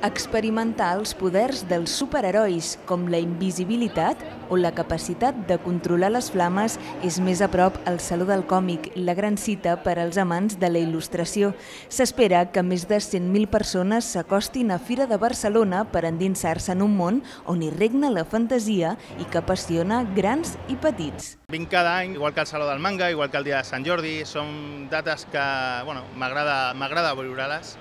Experimentar els poders dels superherois, com la invisibilitat o la capacitat de controlar les flames, és més a prop al Saló del Còmic, la gran cita per als amants de la il·lustració. S'espera que més de 100.000 persones s'acostin a Fira de Barcelona per endinsar-se en un món on hi regna la fantasia i que apassiona grans i petits. Vinc cada any, igual que el Saló del Manga, igual que el dia de Sant Jordi, són dates que m'agrada viure-les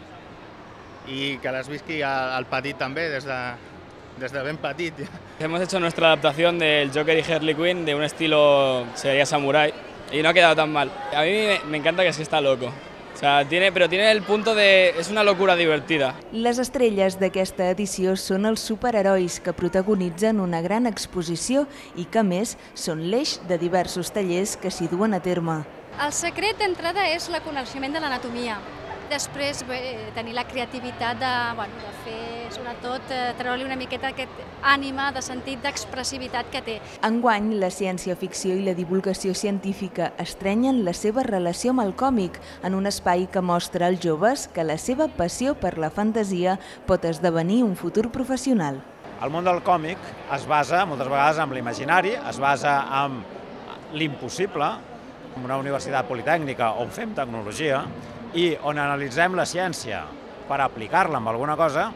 y que las visqui al petit també, desde ben petit. Hemos hecho nuestra adaptación del Joker y Harley Quinn de un estilo, sería samurái, y no ha quedado tan mal. A mí me encanta que es que está loco. O sea, pero tiene el punto de... es una locura divertida. Les estrelles d'aquesta edició són els superherois que protagonitzen una gran exposició i que, a més, són l'eix de diversos tallers que s'hi duen a terme. El secret d'entrada és el coneixement de l'anatomia. Després, tenir la creativitat de fer, sobretot, treure-li una miqueta aquest ànima de sentit d'expressivitat que té. Enguany, la ciència-ficció i la divulgació científica estrenyen la seva relació amb el còmic en un espai que mostra als joves que la seva passió per la fantasia pot esdevenir un futur professional. El món del còmic es basa moltes vegades en l'imaginari, es basa en l'impossible, en una universitat politècnica on fem tecnologia, i on analitzem la ciència per aplicar-la en alguna cosa,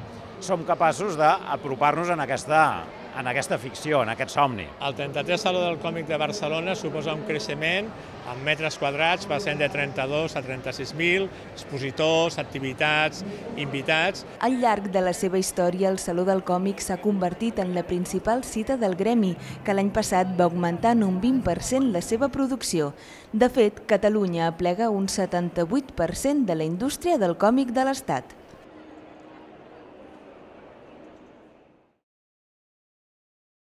som capaços d'apropar-nos en aquesta ficció, en aquest somni. El 33 Saló del Còmic de Barcelona suposa un creixement en metres quadrats, passant de 32 a 36.000, expositors, activitats, invitats. Al llarg de la seva història, el Saló del Còmic s'ha convertit en la principal cita del gremi, que l'any passat va augmentar en un 20% la seva producció. De fet, Catalunya aplega un 78% de la indústria del còmic de l'Estat.